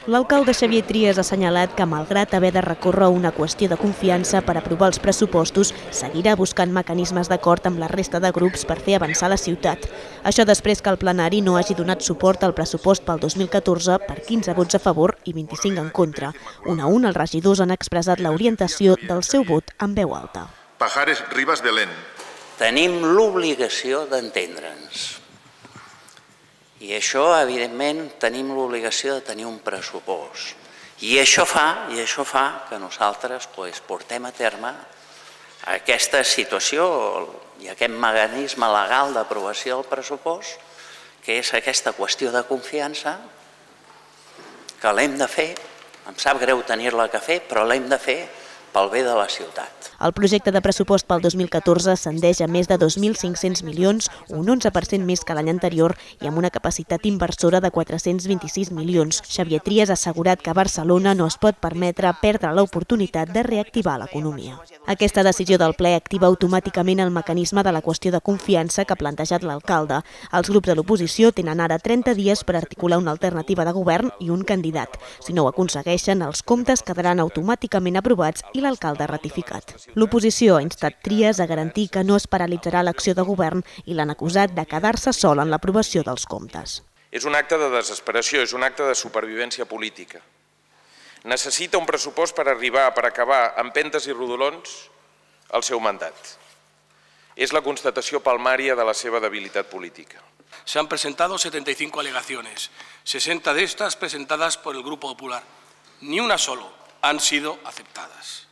L'alcalde Xavier Trias ha assenyalat que, malgrat haver de recórrer una qüestió de confiança per aprovar els pressupostos, seguirà buscant mecanismes d'acord amb la resta de grups per fer avançar la ciutat. Això després que el plenari no hagi donat suport al pressupost pel 2014 per 15 vots a favor i 25 en contra. Un a un, els regidors han expressat l'orientació del seu vot en veu alta. Pajares Ribas de Len. Tenim l'obligació d'entendre'ns. I això, evidentment, tenim l'obligació de tenir un pressupost. I això fa que nosaltres portem a terme aquesta situació i aquest mecanisme legal d'aprovació del pressupost, que és aquesta qüestió de confiança, que l'hem de fer, em sap greu tenir-la que fer, però l'hem de fer pel bé de la ciutat. El projecte de pressupost pel 2014 ascendeix a més de 2.500 milions, un 11% més que l'any anterior i amb una capacitat inversora de 426 milions. Xavier Trias ha assegurat que Barcelona no es pot permetre perdre l'oportunitat de reactivar l'economia. Aquesta decisió del ple activa automàticament el mecanisme de la qüestió de confiança que ha plantejat l'alcalde. Els grups de l'oposició tenen ara 30 dies per articular una alternativa de govern i un candidat. Si no ho aconsegueixen, els comptes quedaran automàticament aprovats i l'alcalde ratificat. L'oposició ha instat Trias a garantir que no es paralitzarà l'acció de govern i l'han acusat de quedar-se sol en l'aprovació dels comptes. És un acte de desesperació, és un acte de supervivència política. Necessita un pressupost per acabar amb empentes i rodolons el seu mandat. És la constatació palmària de la seva debilitat política. Se han presentado 75 alegaciones, 60 de estas presentadas por el Grupo Popular. Ni una solo han sido aceptadas.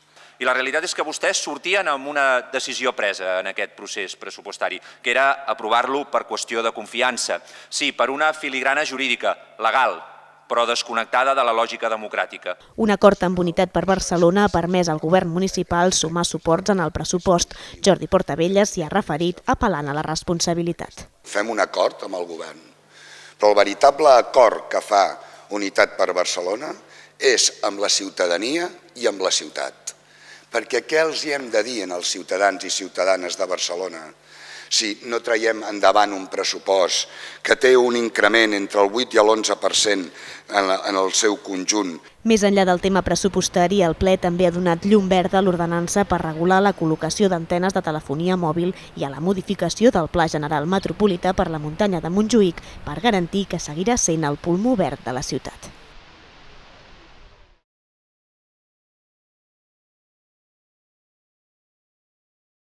I la realitat és que vostès sortien amb una decisió presa en aquest procés pressupostari, que era aprovar-lo per qüestió de confiança. Sí, per una filigrana jurídica, legal, però desconnectada de la lògica democràtica. Un acord amb Unitat per Barcelona ha permès al govern municipal sumar suports en el pressupost. Jordi Portabelles s'hi ha referit apel·lant a la responsabilitat. Fem un acord amb el govern, però el veritable acord que fa Unitat per Barcelona és amb la ciutadania i amb la ciutat. Perquè què els hi hem de dir als ciutadans i ciutadanes de Barcelona si no traiem endavant un pressupost que té un increment entre el 8 i l'11% en el seu conjunt? Més enllà del tema pressupostari, el ple també ha donat llum verda a l'ordenança per regular la col·locació d'antenes de telefonia mòbil i a la modificació del Pla General Metropolità per la muntanya de Montjuïc per garantir que seguirà sent el pulmó verd de la ciutat.